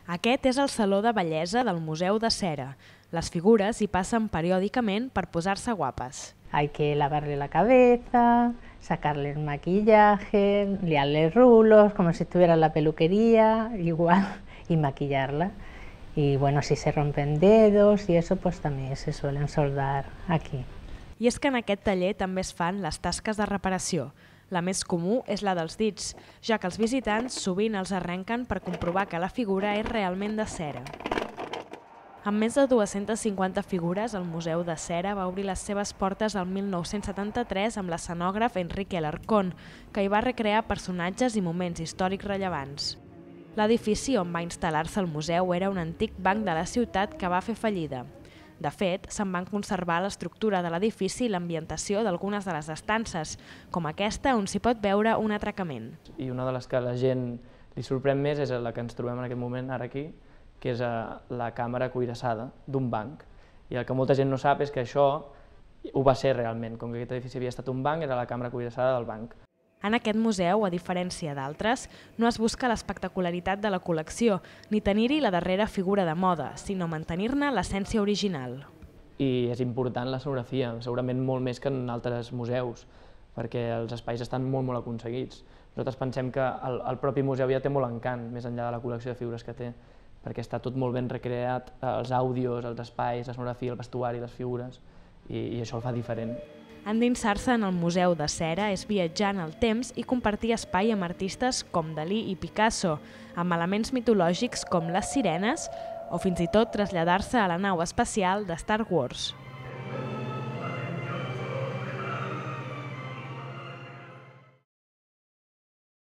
Aquest és el Saló de Bellesa del Museu de Cera. Les figures hi passen periòdicament per posar-se guapes. Hay que lavarle la cabeza, sacarle el maquillaje, liarle rulos, como si estuviera en la peluquería, igual, y maquillarla. Y bueno, si se rompen dedos y eso, pues también se suelen soldar aquí. I és que en aquest taller també es fan les tasques de reparació. La més comú és la dels dits, ja que els visitants sovint els arrenquen per comprovar que la figura és realment de cera. Amb més de 250 figures, el Museu de Cera va obrir les seves portes el 1973 amb l'escenògraf Enrique Alarcón, que hi va recrear personatges i moments històrics rellevants. L'edifici on va instal·lar-se el museu era un antic banc de la ciutat que va fer fallida. De fet, se'n van conservar l'estructura de l'edifici i l'ambientació d'algunes de les estances, com aquesta on s'hi pot veure un atracament. I una de les que a la gent li sorprèn més és la que ens trobem en aquest moment ara aquí, que és la càmera cuirassada d'un banc. I el que molta gent no sap és que això ho va ser realment, com que aquest edifici havia estat un banc, era la càmera cuirassada del banc. En aquest museu, a diferència d'altres, no es busca l'espectacularitat de la col·lecció, ni tenir-hi la darrera figura de moda, sinó mantenir-ne l'essència original. I és important l'escenografia, segurament molt més que en altres museus, perquè els espais estan molt aconseguits. Nosaltres pensem que el propi museu ja té molt encant, més enllà de la col·lecció de figures que té, perquè està tot molt ben recreat, els àudios, els espais, l'escenografia, el vestuari, les figures, i això el fa diferent. Endinsar-se en el Museu de Cera és viatjar en el temps i compartir espai amb artistes com Dalí i Picasso, amb elements mitològics com les sirenes o fins i tot traslladar-se a la nau espacial de Star Wars.